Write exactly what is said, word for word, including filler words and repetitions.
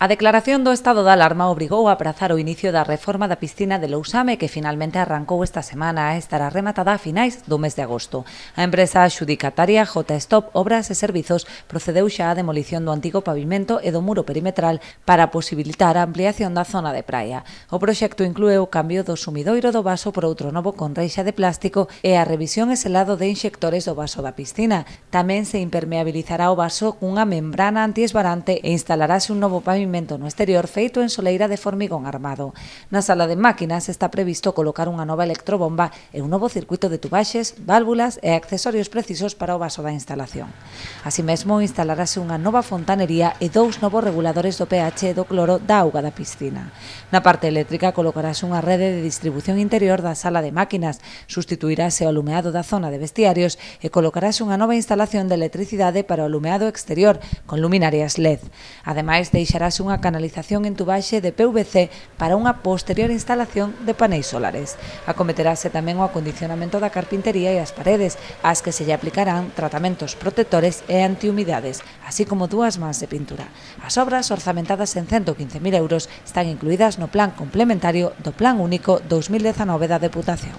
A declaración do estado de alarma obrigou a aprazar o inicio da reforma da piscina de Lousame, que finalmente arrancou esta semana e estará rematada a finais do mes de agosto. A empresa adxudicataria J Stop Obras e Servizos procedeu xa á demolición do antigo pavimento e do muro perimetral para posibilitar a ampliación da zona de praia. O proxecto inclúe o cambio do sumidoiro do vaso por outro novo con reixa de plástico e a revisión e selado de inxectores do vaso da piscina. Tamén se impermeabilizará o vaso cunha membrana antiesbarante e instalarase un novo pavimento no exterior feito en soleira de formigón armado. Na sala de máquinas está previsto colocar unha nova electrobomba e un novo circuito de tubaxes, válvulas e accesorios precisos para o vaso da instalación. Así mesmo, instalarase unha nova fontanería e dous novos reguladores do pH e do cloro da auga da piscina. Na parte eléctrica colocarase unha rede de distribución interior da sala de máquinas, sustituirase o alumeado da zona de vestiarios e colocarase unha nova instalación de electricidade para o alumeado exterior con luminarias L E D. Ademais, deixarase unha canalización en tubaxe de P V C para unha posterior instalación de paneis solares. Acometerase tamén o acondicionamento da carpintería e as paredes, ás que se lle aplicarán tratamentos protectores e antihumidades, así como dúas mans de pintura. As obras, orzamentadas en ciento quince mil euros, están incluídas no plan complementario do Plan Único dos mil dezanove da Deputación.